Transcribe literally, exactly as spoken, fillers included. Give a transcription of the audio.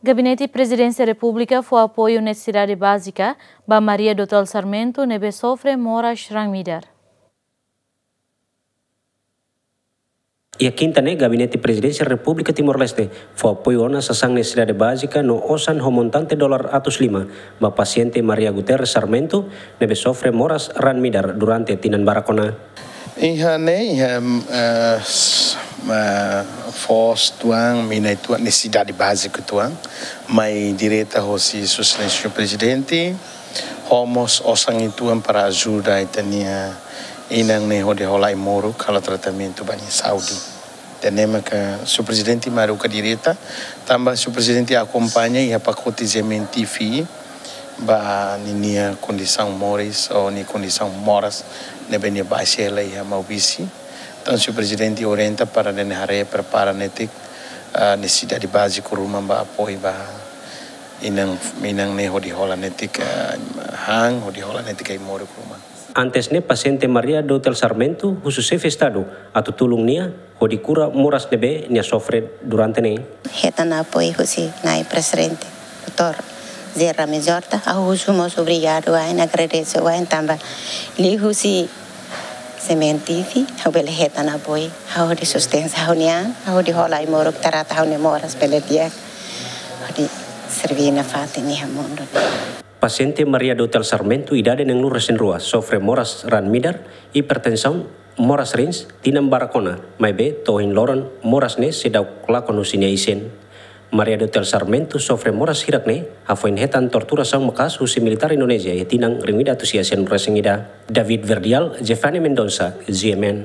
Gabinete Prezidénsia Repúblika fó apoiu nesesidade bázika ba Maria do Tel Sarmento ne'ebé sofre moras raan-midar. Iha kinta ne'e, Gabinete Prezidénsia Repúblika Timor-Leste fó apoiu ona sasán nesesidade bázika no osan ho montante dolar atus lima ba pasiente Maria Guterres Sarmento ne'ebé sofre moras raan-midar durante tinan barak ona. Iha ne'e, iha, eh, s-, eh, foos tuan, mina uitoan, nesesidade bázika tuan, mai direta hosi Sua Exelénsia Prezidente, ho mós osan uitoan para ajuda ita-nia inan ne'e hodi hola ai-moruk, halo tratamentu ba nia saúde. Ida-ne'e maka Sua Prezidente mai haruka direta, tanba Sua Prezidente akompaña iha pakote G M N T V, ba ninia kondisaun moris, ou nia kondisaun moras, ne'ebé nia baixa hela iha Maubisse. Entaun, Sua Prezidente orienta para nia haree prepara netik, ah, nesesidade báziku ruma ba apoiu ba inan, inan ne'e hodi hola netik, ah, han, hodi hola netik ai-moruk ruma. Antes ne'e, pasiente Maria do Tel Sarmento husu Xefe Estadu atu tulun nia hodi kura moras ne'ebé nia sofre durante ne'e. Hetan apoiu husi Na'i Prezidente, Doutór José Ramos-Horta, ha'u husu mós obrigadu wa'in, agradese wa'in tanba liuhusi G M N T V, ha'u bele hetan apoiu, ha'u hodi sustenta ha'u-nia an, ha'u hodi hola ai-moruk, trata ha'u-nia moras bele di'ak, hodi serbí nafatin iha mundu. Pasiente Maria do Tel Sarmento, idade neenpuluh resin rua, sofre moras raan-midar, hipertensaun, moras rins, tinan barak ona, maibé to'o ohin loron moras ne'e seidauk lakon husi nia isin. Maria do Tel Sarmento sofre moras hirak ne'e hafoin hetan torturasaun maka'as husi militár Indonézia iha tinan rihun ida atus sia sianulu resin ida. David Verdial, Jeffane Mendonça, G M N.